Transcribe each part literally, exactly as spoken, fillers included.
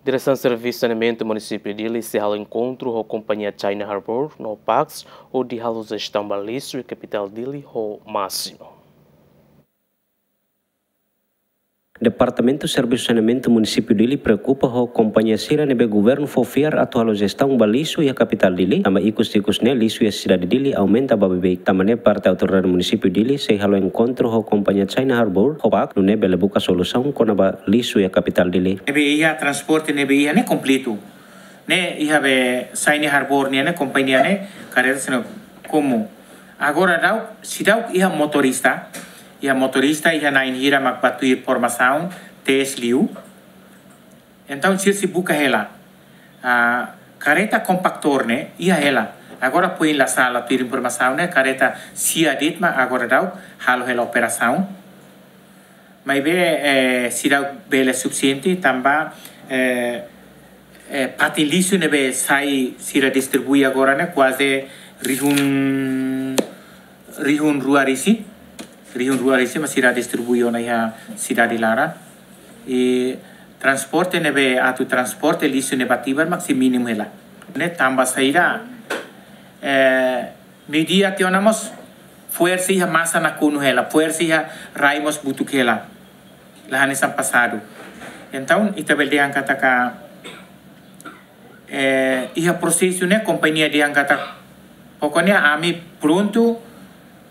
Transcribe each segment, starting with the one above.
Diresaun Servisu Saneamentu Munisípiu Dili sei halo enkontru ho kompañia China Harbour no Pax hodi halo jestaun ba lixu iha kapitál Dili ho másimu. Departamentu Servisu Saneamentu Munisípiu Dili preokupa ho kompañia sira ne'ebé governu fó fiar atu halo jestaun ba lixu iha kapitál Dili, tanba ikus-ikus ne'e lixu iha sidade Dili aumenta ba beibeik. Tanba ne'e parte autoridade munisípiu Dili sei halo enkontru ho kompañia China Harbour ho Pax nune'e bele buka solusaun kona-ba lixu iha kapitál Dili. Ne'ebé iha transporte ne'ebé iha ne'e kompletu. Ne'e iha be China Harbour nian ne'e kompañia ne'e kareta sira komu. Agora daudaun, seidauk iha motorista, iha motorista, iha na'in hira mak bá tuir formasaun, tes liu. Entaun sira sei buka hela. Ah, kareta kompaktór ne'e iha hela. Agora foin la sala tuir informasaun ne'e kareta sia de'it mak agora daudaun halo hela operasaun. Maibé, eh, seidauk bele sufisiente tanba, eh, eh, fatin lixu ne'ebé sai sira distribui agora ne'e kuaze rihun, rihun rua resin, rihun rua resin mak sira distribui ona iha sidade laran. I transporte ne'ebé atu transporte lixu ne'e ba Tibar mak sei mínimu hela. Ne'e tanba saida, eh, meiudia tiha ona mós fo'er sei iha masa nakonu hela, fo'er sei iha rai mós butuk hela. La hanesan pasadu. Entaun, ita bele dehan katak, eh, iha prosesu ne'e kompañia dehan katak, pokoknya ami prontu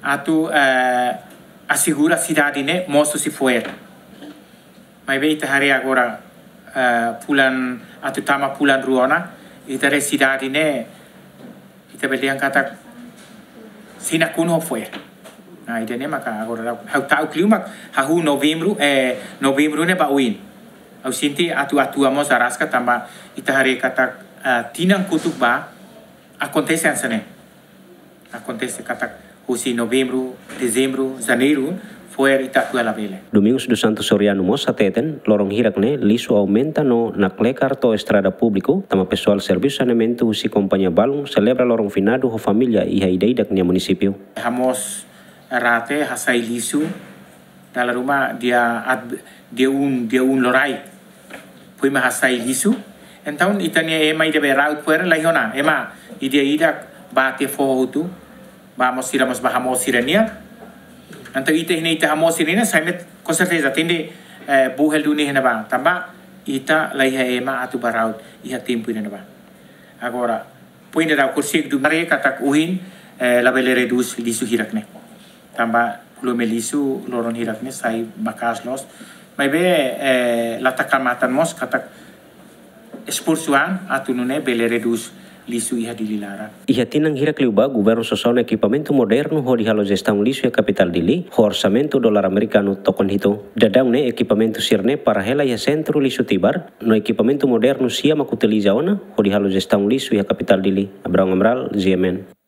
atu, eh, asegura sidade ne'e mosu sei fo'er. Maibé ita haree agora, eh, fulan atu tama fulan rua ona, ita haree sidade ne'e, ita bele dehan katak sei nakonu ho fo'er. Nah, ida-ne'e maka agora ha'u ta'uk liu mak hahú novembru, eh, novembru ne'e ba oin. Ha'u sente atu atu mós araska tanba ita haree katak, eh, tinan kotuk bá akontese hanesan ne'e. Akontese katak husi novembru, dezembru, janeiru, fo'er ita atu labele. Domingos dos Santos Soriano mós hateten, loron hirak ne'e lixu aumenta no naklekar to'o estrada públiku, tanba pesoál servisu saneamentu husi kompañia balun selebra loron finadu ho família iha ida-idak nia munisípiu. Hamoos rate hasai lixu, dala ruma dia at-, dia um, dia um loraik. Foin mak hasai lixu. Entaun, ita-nia ema ida be raut fo'er la iha ona. Ema ida-idak bá tiha foho hotu. Bá mós sira mós bá hamoos sira-nian. Entaun, ita iha ne'e ita hamoos sira-nian, sai met, com certeza, tenke, eh, buhel duni iha ne'ebá. Tanba, ita la iha ema atu bá raut iha tempu ida-ne'ebá. Agora, foin daudaun konsege duni haree katak ohin, eh, labele redús lixu hirak ne'e. Tanba volume lixu loron hirak ne'e sai maka'as loos. Maibé, eh, la taka matan mós katak esforsu an atu nune'e bele redús lixu iha Dili laran. Iha tinan hirak liubá, governu sosa ona ekipamentu modernu hodi halo jestaun lixu iha kapitál Dili, ho orsamentu dolar amerikanu tokon hitu. Daudaun ne'e ekipamentu sira-ne'e para hela iha sentru lixu Tibar, no ekipamentu modernu sia mak utiliza ona hodi halo jestaun lixu iha kapitál Dili. Abrão Amaral, G M N.